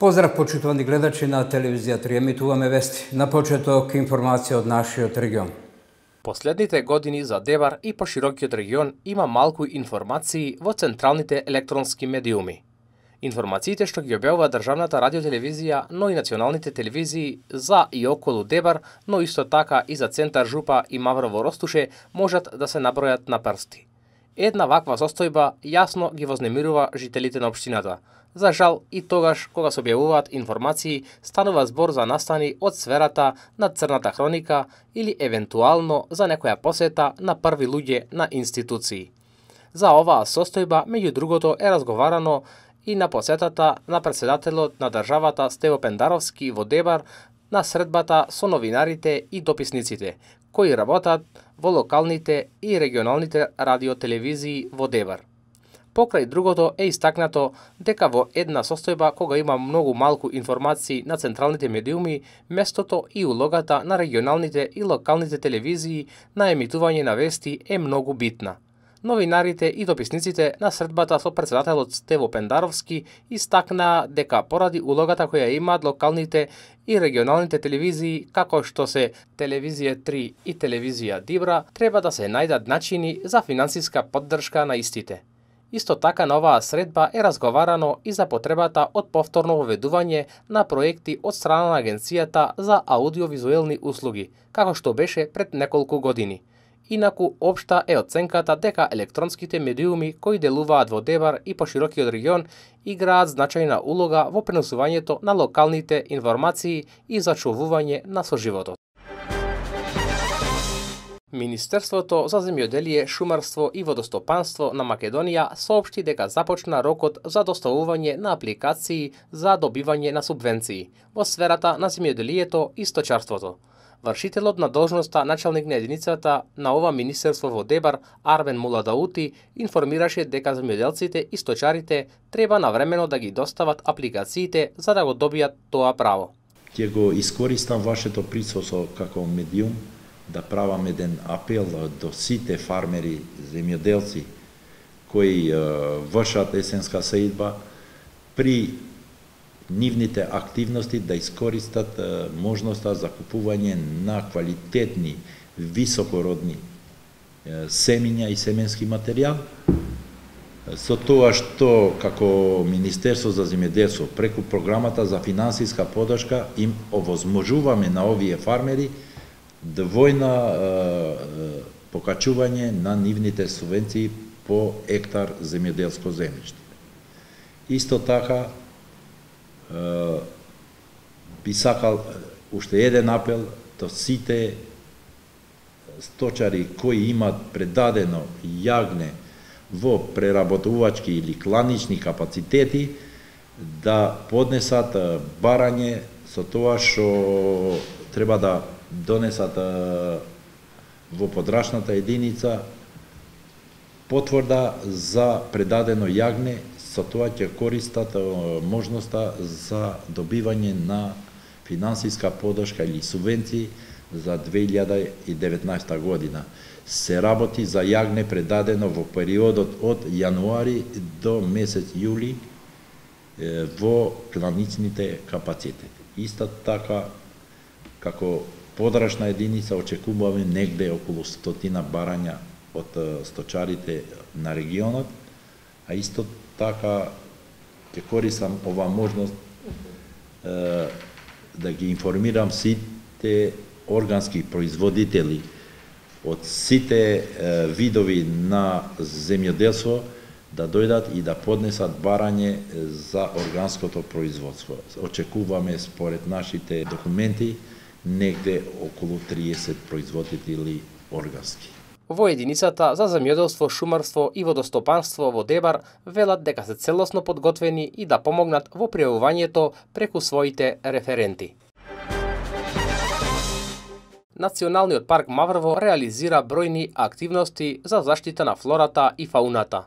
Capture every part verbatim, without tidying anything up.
Поздрав, почитувани гледачи на телевизија три, емитуваме вести. На почеток информација од нашиот регион. Последните години за Дебар и поширокиот регион има малку информации во централните електронски медиуми. Информациите што ги објавува државната радиотелевизија, но и националните телевизии за и околу Дебар, но исто така и за Центар Жупа и Маврово Ростуше можат да се набројат на прсти. Една ваква состојба јасно ги вознемирува жителите на општината. За жал, и тогаш кога се објавуваат информации, станува збор за настани од сферата на црната хроника или евентуално за некоја посета на први луѓе на институции. За оваа состојба, меѓу другото, е разговарано и на посетата на претседателот на државата Стево Пендаровски во Дебар на средбата со новинарите и дописниците, кои работат во локалните и регионалните радиотелевизии во Дебар. Покрај другото е истакнато дека во една состојба кога има многу малку информации на централните медиуми, местото и улогата на регионалните и локалните телевизии на емитување на вести е многу битна. Новинарите и дописниците на средбата со претседателот Стево Пендаровски истакнаа дека поради улогата која имаат локалните и регионалните телевизии, како што се Телевизија три и Телевизија Дибра, треба да се најдат начини за финансиска поддршка на истите. Исто така на оваа средба е разговарано и за потребата од повторно воведување на проекти од страна на Агенцијата за аудиовизуелни услуги, како што беше пред неколку години. Инаку, општа е оценката дека електронските медиуми кои делуваат во Дебар и поширокиот регион играат значајна улога во пренесувањето на локалните информации и зачувување на соживотот. Министерството за земјоделие, шумарство и водостопанство на Македонија соопшти дека започна рокот за доставување на апликации за добивање на субвенции во сферата на земјоделието и сточарството. Вршителот на должноста началник на единицата на ова министерство во Дебар, Арвен Муладаути, информираше дека земјоделците и сточарите треба навремено да ги достават апликациите за да го добијат тоа право. Ќе го искористам вашето присуство како медиум да правам еден апел до сите фармери, земјоделци кои е, вршат есенска сеидба при нивните активности да искористат е, можноста за купување на квалитетни, високородни е, семиња и семенски материјал. Со тоа што како Министерство за земјоделство преку програмата за финансиска поддршка им овозможуваме на овие фармери двојна е, покачување на нивните субвенции по хектар земјоделско земјиште. Исто така е, би сакал уште еден апел до сите сточари кои имат предадено јагне во преработувачки или кланични капацитети да поднесат барање со тоа што треба да донесат во подрачната единица потврда за предадено јагне, со тоа ќе користат можноста за добивање на финансиска поддршка или субвенции за две илјади и деветнаесета година. Се работи за јагне предадено во периодот од јануари до месец јули во кланичните капацитети. Исто така, како подрачна единица очекуваме негде околу стотина барања од сточарите на регионот, а исто така ќе користам ова можност е, да ги информирам сите органски производители од сите е, видови на земјоделство да дојдат и да поднесат барање за органското производство. Очекуваме според нашите документи негде околу триесет производители органски. Во единицата за земјоделство, шумарство и водостопанство во Дебар велат дека се целосно подготвени и да помогнат во пријавувањето преку своите референти. Националниот парк Маврово реализира бројни активности за заштита на флората и фауната.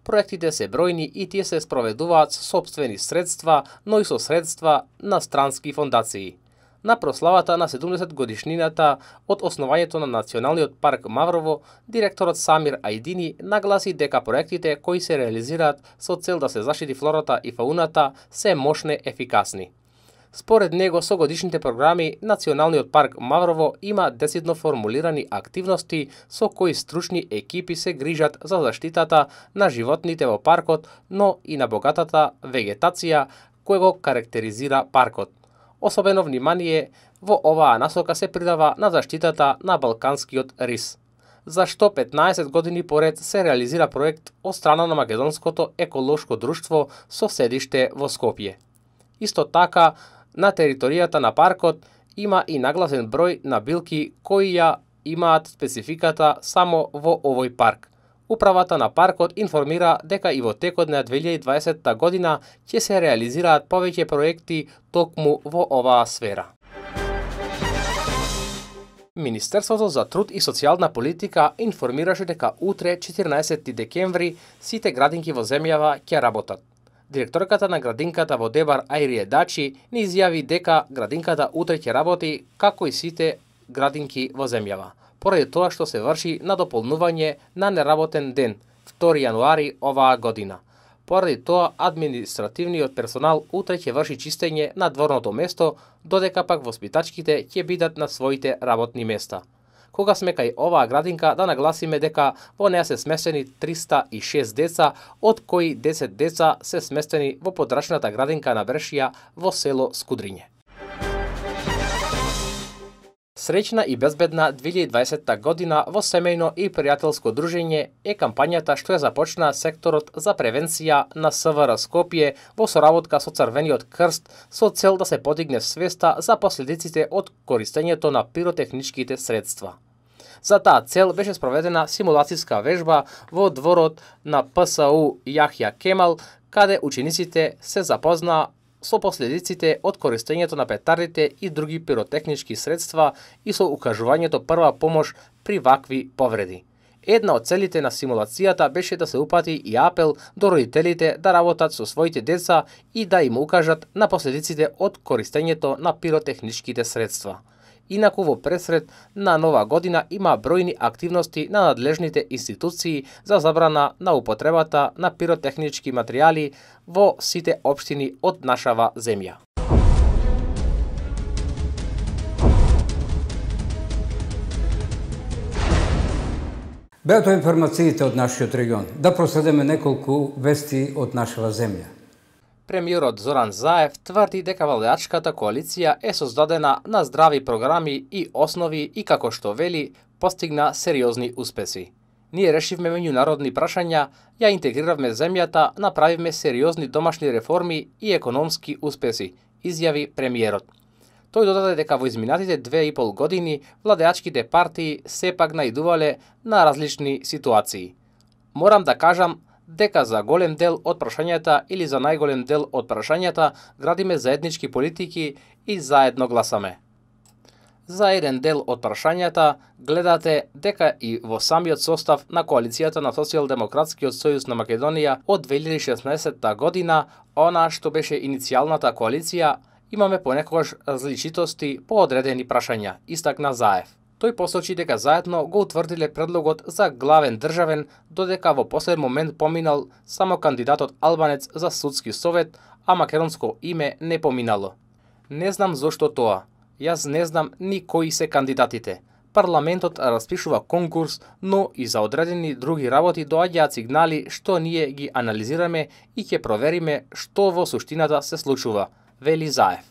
Проектите се бројни и тие се спроведуваат со сопствени средства, но и со средства на странски фондации. На прославата на седумдесет годишнината од основањето на Националниот парк Маврово, директорот Самир Ајдини нагласи дека проектите кои се реализираат со цел да се заштити флората и фауната се мощни ефикасни. Според него, со годишните програми, Националниот парк Маврово има децидно формулирани активности со кои стручни екипи се грижат за заштитата на животните во паркот, но и на богатата вегетација која го карактеризира паркот. Особено внимание во оваа насока се придава на заштитата на балканскиот рис, зашто петнаесет години поред се реализира проект од страна на Македонското еколошко друштво со седиште во Скопје. Исто така, на територијата на паркот има и нагласен број на билки кои ја имаат спецификата само во овој парк. Управата на паркот информира дека и во текот на две илјади и дваесетта година ќе се реализираат повеќе проекти токму во оваа сфера. Министерството за труд и социјална политика информираше дека утре, четирнаесети декември, сите градинки во земјава ќе работат. Директорката на градинката во Дебар Ајрие Дачи ни изјави дека градинката утре ќе работи како и сите градинки во земјава, поради тоа што се врши на дополнување на неработен ден, втори јануари оваа година. Поради тоа, административниот персонал утре ќе врши чистење на дворното место, додека пак воспитачките ќе бидат на своите работни места. Кога сме кај оваа градинка, да нагласиме дека во неа се сместени триста и шест деца, од кои десет деца се сместени во подрачната градинка на Брешија во село Скудриње. Среќна и безбедна две илјади и дваесетта година во семејно и пријателско дружење е кампањата што ја започна секторот за превенција на СВР Скопје во соработка со Црвениот крст со цел да се подигне свеста за последиците од користењето на пиротехничките средства. За таа цел беше спроведена симулацијска вежба во дворот на ПСУ Јахја Кемал, каде учениците се запознаа со последиците од користењето на петардите и други пиротехнички средства и со укажувањето прва помош при вакви повреди. Една од целите на симулацијата беше да се упати и апел до родителите да работат со своите деца и да им укажат на последиците од користењето на пиротехничките средства. Инаку во пресред на нова година има бројни активности на надлежните институции за забрана на употребата на пиротехнички материјали во сите општини од нашава земја. Беа тоа информациите од нашиот регион. Да проследиме неколку вести од нашава земја. Премиерот Зоран Заев тврди дека владеачката коалиција е создадена на здрави програми и основи и како што вели, постигна сериозни успеси. Ние решивме меѓународни прашања, ја интегриравме земјата, направивме сериозни домашни реформи и економски успеси, изјави премиерот. Тој додаде дека во изминатите две и пол години владеачките партии сепак наидувале на различни ситуации. Морам да кажам дека за голем дел од прашањата или за најголем дел од прашањата градиме заеднички политики и заедно гласаме. За еден дел од прашањата гледате дека и во самиот состав на коалицијата на Социјалдемократскиот сојуз на Македонија од две илјади и шеснаесетта година, она што беше иницијалната коалиција, имаме понекогаш различитости по одредени прашања, истакна Заев. Тој посочи дека заедно го утврдиле предлогот за главен државен, додека во последен момент поминал само кандидатот албанец за судски совет, а македонско име не поминало. Не знам зошто тоа. Јас не знам ни кои се кандидатите. Парламентот распишува конкурс, но и за одредени други работи доаѓаат сигнали што ние ги анализираме и ќе провериме што во суштината се случува, вели Заев.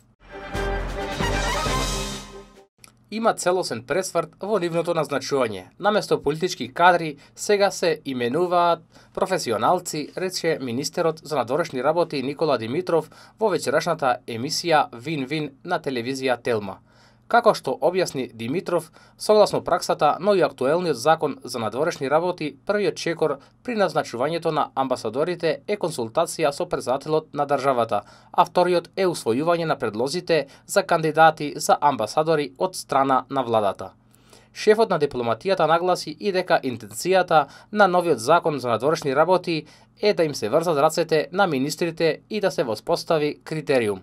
Има целосен пресврт во нивното назначување. Наместо политички кадри, сега се именуваат професионалци, рече министерот за надворешни работи Никола Димитров во вечерашната емисија Вин-Вин на телевизија Телма. Како што објасни Димитров, согласно праксата, но и актуелниот закон за надворешни работи, првиот чекор при назначувањето на амбасадорите е консултација со председателот на државата, а вториот е усвојување на предлозите за кандидати за амбасадори од страна на владата. Шефот на дипломатијата нагласи и дека интенцијата на новиот закон за надворешни работи е да им се врзат рацете на министрите и да се воспостави критериум.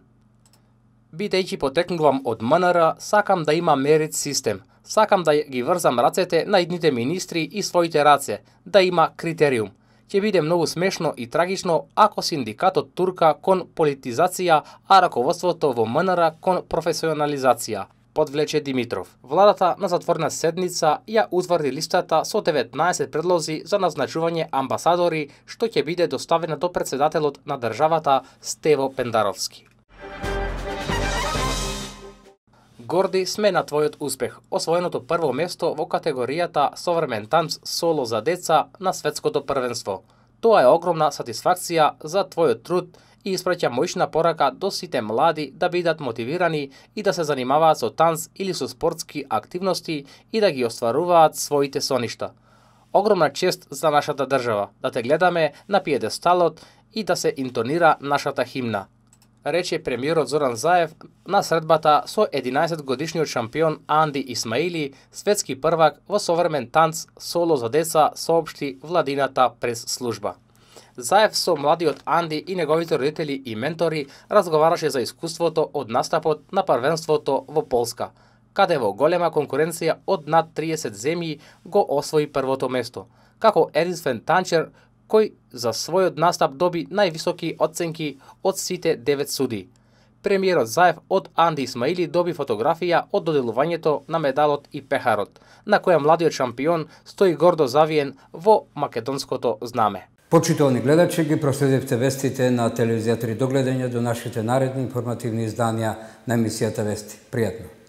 Бидејќи потекнувам од М Н Р, сакам да има мерит систем. Сакам да ги врзам рацете на идните министри и своите раце, да има критериум. Ќе биде многу смешно и трагично ако синдикатот турка кон политизација, а раководството во М Н Р кон професионализација, подвлече Димитров. Владата на затворена седница ја утврди листата со деветнаесет предлози за назначување амбасадори, што ќе биде доставена до претседателот на државата Стево Пендаровски. Горди сме на твојот успех, освоеното прво место во категоријата Современ танц соло за деца на светското првенство. Тоа е огромна сатисфакција за твојот труд и испраќа мојшна порака до сите млади да бидат мотивирани и да се занимаваат со танц или со спортски активности и да ги остваруваат своите соништа. Огромна чест за нашата држава, да те гледаме на пиедесталот и да се интонира нашата химна, рече премиерот Зоран Заев на средбата со единаесет годишниот шампион Анди Исмаили, светски првак во современ танц соло за деца, соопшти владината прес служба. Заев со младиот Анди и неговите родители и ментори разговараше за искуството од настапот на првенството во Полска, каде во голема конкуренција од над триесет земји го освои првото место, како единствен танчер кој за својот настап доби највисоки оценки од сите девет суди. Премиерот Заев од Анди Исмаили доби фотографија од доделувањето на медалот и пехарот, на која младиот шампион стои гордо завиен во македонското знаме. Почитувани гледачи, ги проследивте вестите на телевизија три. До гледање до нашите наредни информативни изданија на емисијата Вести. Пријатно!